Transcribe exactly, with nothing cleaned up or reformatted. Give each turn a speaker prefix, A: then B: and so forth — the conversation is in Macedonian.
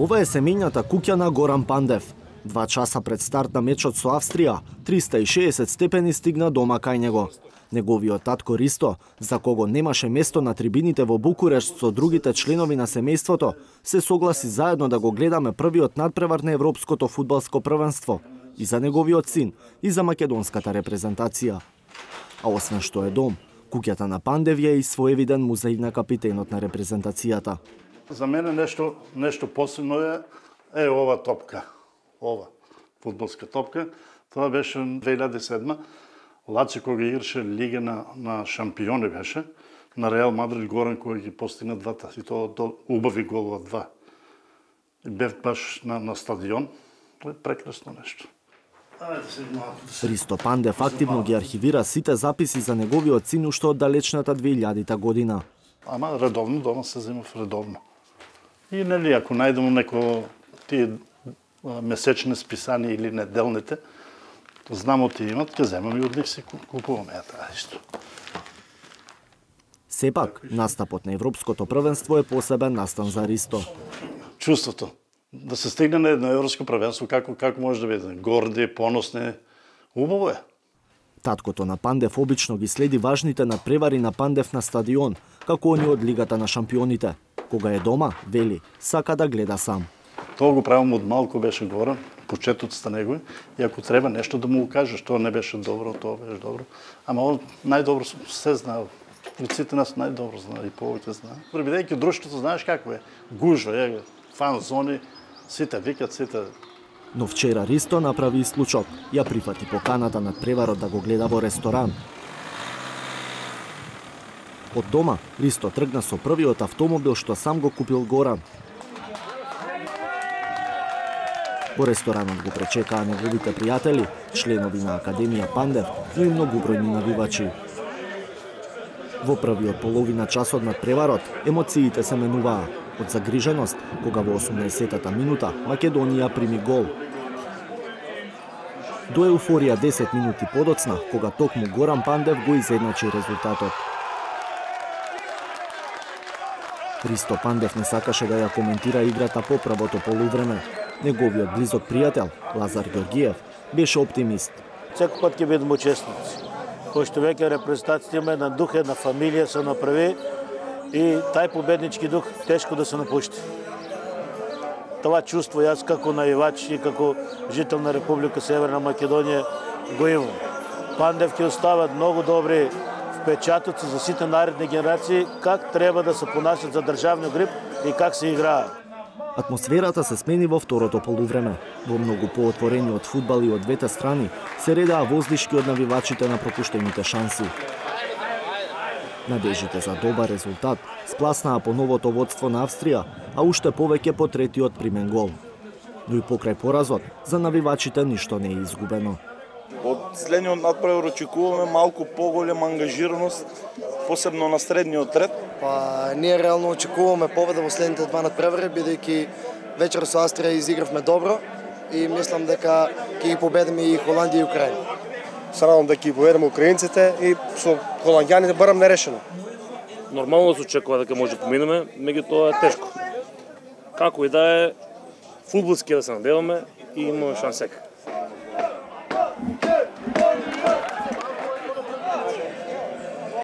A: Ова е семејната куќа на Горан Пандев. Два часа пред старт на мечот со Австрија, триста и шеесет степени стигна дома кај него. Неговиот татко Ристо, за кого немаше место на трибините во Букурешт со другите членови на семејството, се согласи заедно да го гледаме првиот надпревар на Европското фудбалско првенство и за неговиот син, и за македонската репрезентација. А освен што е дом, куќата на Пандев е и своевиден музеј на капитенот на репрезентацијата.
B: За мене нешто нешто посебно е е ова топка. Ова фудбалска топка. Тоа беше две илјади и седма. Лаци кога играше Лига на на шампиони беше на Реал Мадрид Горан кој ги постигна двата и тоа до убави голова два. И бев баш на на стадион. Тоа е прекрасно нешто.
A: Ристо Пандев активно ги архивира сите записи за неговиот син уште од далечната две илјадита година.
B: Ама редовно дома се земав редовно. И нели ако најдемо неко тие месечни списани или неделните, знамо ти имат, ќе земам и од нив си купуваме тоа исто.
A: Сепак, настапот на Европското првенство е посебен настан за Ристо.
B: Чувството да се стигне на едно европско првенство, како како може да биде горди, поносни, убаво е.
A: Таткото на Пандев обично ги следи важните надпревари на Пандев на стадион, како они од Лигата на шампионите. Кога е дома, вели, сака да гледа сам.
B: Тоа го правам од малку, беше горен, почетоците негови, и ако треба нешто да му го кажеш, тоа не беше добро, тоа беше добро. Ама он најдобро се знае. Од сите нас најдобро знае и повеќе знае. Бидејќи друштвото знаеш какво е. Гужва, е, фан зони, сите викат, сите.
A: Но вчера Ристо направи исклучок. Ја прифати поканата над преварот да го гледа во ресторан. Од дома, Ристо тргна со првиот автомобил што сам го купил Горан. Во ресторанот го пречекаа неговите пријатели, членови на Академија Пандев, но и многобројни навивачи. Во првиот половина часот над преварот, емоциите се менуваа. Од загриженост, кога во осумнаесеттата минута Македонија прими гол. До еуфорија десет минути подоцна, кога токму Горан Пандев го изедначи резултатот. Ристо Пандев не сакаше да ја коментира играта по првото полувреме. Неговиот близок пријател, Лазар Георгиев, беше оптимист.
C: Секој пат ќе бидеме учесници. Кој што веќе репрезентацијата има една дух, една фамилија се направи и тај победнички дух тешко да се напушти. Това чувство јас како навивач и како жител на Република Северна Македонија го имам. Пандев ќе остават многу добри впечатоци за сите наредни генерации как треба да се понасат за државниот гриб и как се играат.
A: Атмосферата се смени во второто полувреме. Во многу поотворениот фудбал и од двете страни се редаа воздишки од навивачите на пропуштените шанси. Надежите за добар резултат спласнаа по новото водство на Австрија, а уште повеќе по третиот примен гол. Но и покрај поразот, за навивачите ништо не е изгубено.
D: Од следниот надпревар очекуваме малку поголема ангажираност, посебно на средниот ред.
E: Па ние реално очекуваме победа во следните два надпревари, бидејќи вечер со Австрија изигравме добро и мислам дека ќе ги победиме и Холандија и Украина.
F: Се надам дека ги победиме украинците и со холандјаните барам нерешено.
G: Нормално се очекува дека може да поминеме, меѓутоа е тешко. Како и да е, фудбалски да се надеваме и имаме шансека.